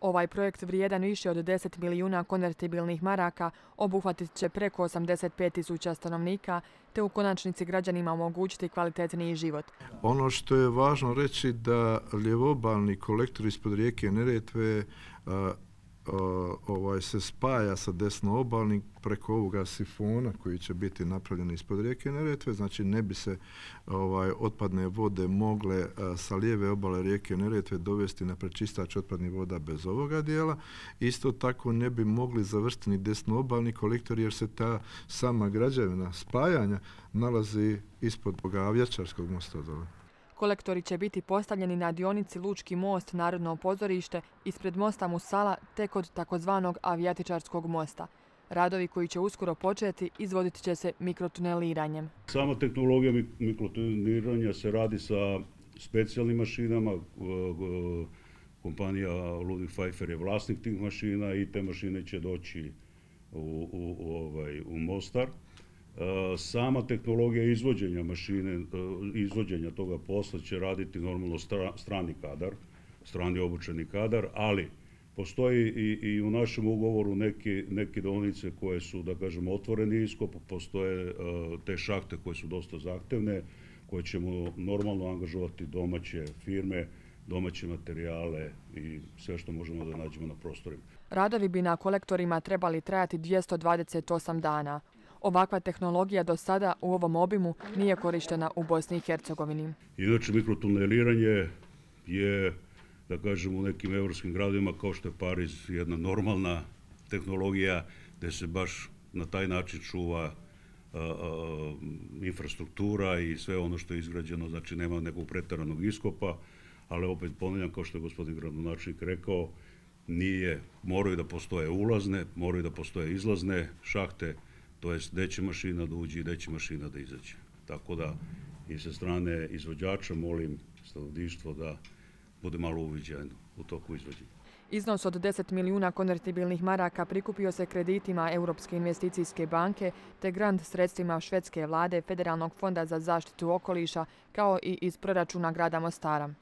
Ovaj projekt vrijedan više od 10 milijuna konvertibilnih maraka obuhvatit će preko 85.000 stanovnika te u konačnici građanima omogućiti kvalitetniji život. Ono što je važno reći da ljevobalni kolektor ispod rijeke Neretve se spaja sa desnoobalnim preko ovoga sifona koji će biti napravljen ispod rijeke Neretve, znači ne bi se otpadne vode mogle sa lijeve obale rijeke Neretve dovesti na prečistač otpadnih voda bez ovoga dijela. Isto tako ne bi mogli završiti ni desnoobalni kolektor jer se ta sama građevina spajanja nalazi ispod Avjačarskog mosta dole. Kolektori će biti postavljeni na dionici Lučki most, Narodno pozorište, ispred mosta Musala te kod takozvanog Avijatičarskog mosta. Radovi koji će uskoro početi izvodit će se mikrotuneliranjem. Sama tehnologija mikrotuneliranja se radi sa specijalnim mašinama. Kompanija Ludwig Pfeiffer je vlasnik tih mašina i te mašine će doći u Mostar. Sama tehnologija izvođenja mašine, izvođenja toga posla će raditi normalno strani kadar, strani obučeni kadar, ali postoji i u našem ugovoru neke deonice koje su, da kažemo, otvoreni iskop, postoje te šahte koje su dosta zahtevne, koje ćemo normalno angažovati domaće firme, domaće materijale i sve što možemo da nađemo na prostorima. Radovi bi na kolektorima trebali trajati 228 dana. Ovakva tehnologija do sada u ovom obimu nije korištena u Bosni i Hercegovini. Inače, mikrotuneliranje je, da kažem, u nekim evropskim gradovima kao što je Pariz jedna normalna tehnologija gdje se baš na taj način čuva infrastruktura i sve ono što je izgrađeno, znači nema nekog pretjeranog iskopa, ali opet ponavljam, kao što je gospodin gradonačelnik rekao, moraju da postoje ulazne, moraju da postoje izlazne šahte, to jest gdje će mašina da uđe i gdje će mašina da izađe. Tako da i sa strane izvođača molim stanovništvo da bude malo uviđajno u toku izvođenja. Iznos od 10 milijuna konvertibilnih maraka prikupio se kreditima Europske investicijske banke te grant sredstvima švedske vlade, Federalnog fonda za zaštitu okoliša kao i iz proračuna grada Mostara.